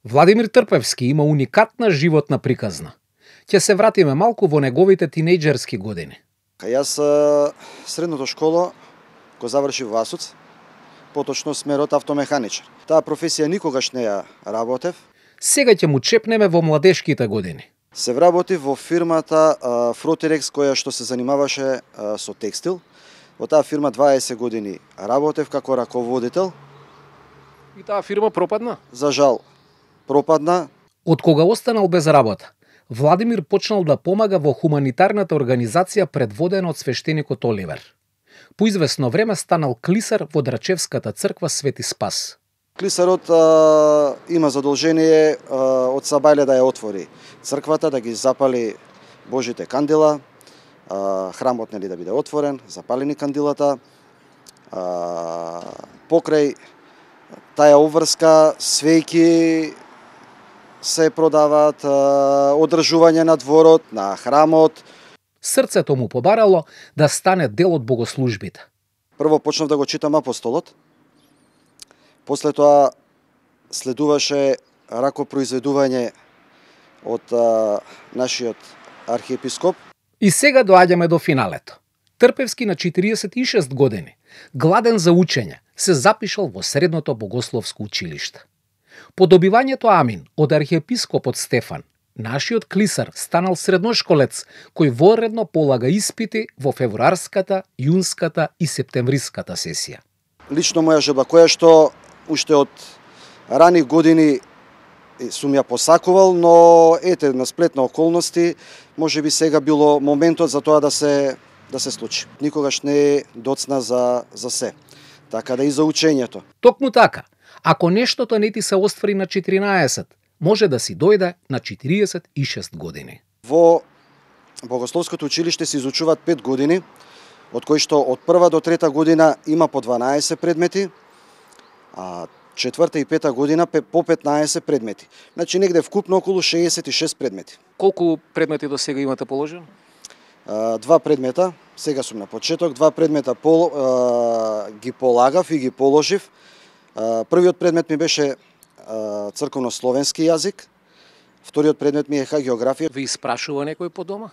Владимир Трпевски има уникатна животна приказна. Ќе се вратиме малку во неговите тинејџерски години. Јас средното школа го завршив во Асуц, поточно смерот автомеханичар. Таа професија никогаш не ја работев. Сега ќе му чепнеме во младешките години. Се вработив во фирмата Фротерекс, која што се занимаваше со текстил. Во таа фирма 20 години работев како раководител. И таа фирма пропадна? За жал, пропадна. Од кога останал без работа, Владимир почнал да помага во хуманитарната организација предводена од свештеникот Оливер. По известно време станал клисар во Драчевската црква Свети Спас. Клисарот има задолжение од сабајле да ја отвори црквата, да ги запали Божите кандила, храмот нели да биде отворен, запалени кандилата. Покрај таа обврска свејки се продаваат, одржување на дворот, на храмот. Срцето му побарало да стане дел од богослужбите. Прво почнав да го читам Апостолот. После тоа следуваше ракопроизведување од нашиот архиепископ. И сега доаѓаме до финалето. Трпевски на 46 години, гладен за учење, се запишал во средното богословско училиште. По добивањето амин од архиепископот Стефан, нашиот клисар станал средношколец кој воредно полага испити во февруарската, јунската и септемвриската сесија. Лично моја желба, која што уште од рани години сум ја посакувал, но ете на сплет на околности, можеби сега било моментот за тоа да се случи. Никогаш не доцна за се. Така да и за учењето. Токму така, ако нештото не ти се оствари на 14, може да си дојде на 46 години. Во Богословското училиште се изучуваат 5 години, од кои што од прва до трета година има по 12 предмети, а четврта и пета година по 15 предмети. Значи негде вкупно околу 66 предмети. Колку предмети до сега имате положено? 2 предмета, сега сум на почеток, 2 предмета ги полагав и ги положив. Првиот предмет ми беше црковно-словенски јазик, вториот предмет ми е хагеографија. Ви испрашува некој по дома?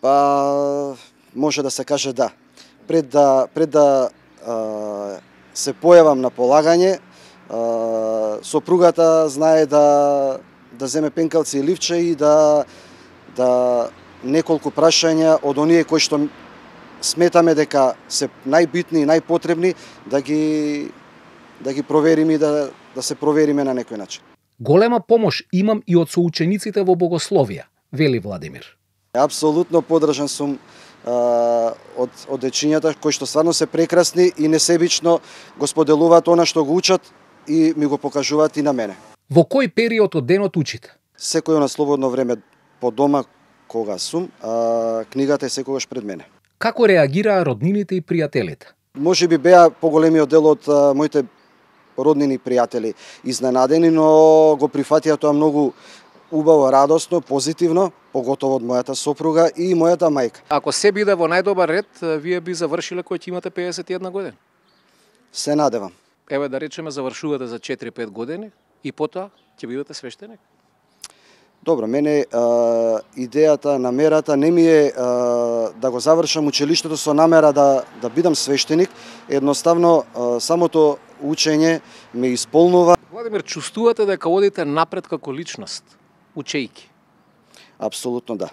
Па може да се каже да. Пред да се појавам на полагање, сопругата знае да земе пенкалци и ливче и да неколку прашања од оние кои што сметаме дека се најбитни и најпотребни да ги провериме и да се провериме на некој начин. Голема помош имам и од соучениците во богословија, вели Владимир. Апсолутно поддржан сум од дечињата кои што стварно се прекрасни и несебично го споделуваат она што го учат и ми го покажуваат и на мене. Во кој период од денот учите? Секој на слободно време по дома кога сум, книгата е секогаш пред мене. Како реагираа роднините и пријателите? Можеби беа поголемиот дел од моите роднини и пријатели изненадени, но го прифатија тоа многу убаво, радосно, позитивно, поготово од мојата сопруга и мојата мајка. Ако се биде во најдобар ред, вие би завршиле кој ќе имате 51 години? Се надевам. Еве да речеме завршувате за 4-5 години и потоа ќе бидете свештеник? Добро, мене идејата, намерата не ми е да го завршам училиштето со намера да бидам свештеник. Едноставно, самото учење ме исполнува. Владимир, чувствувате дека одите напред како личност, учејки? Апсолутно да.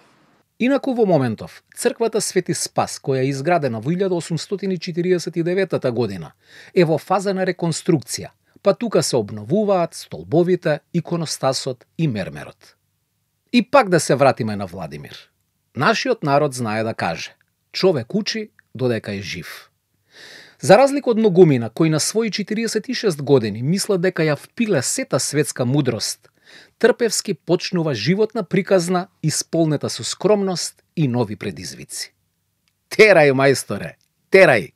Инаку во моментов, црквата Свети Спас, која е изградена во 1849 година, е во фаза на реконструкција, па тука се обновуваат столбовите, иконостасот и мермерот. И пак да се вратиме на Владимир. Нашиот народ знае да каже: човек учи додека е жив. За разлика од многумина кои на своји 46 години мислат дека ја впиле сета светска мудрост, Трпевски почнува животна приказна исполнета со скромност и нови предизвици. Терај, мајсторе, терај!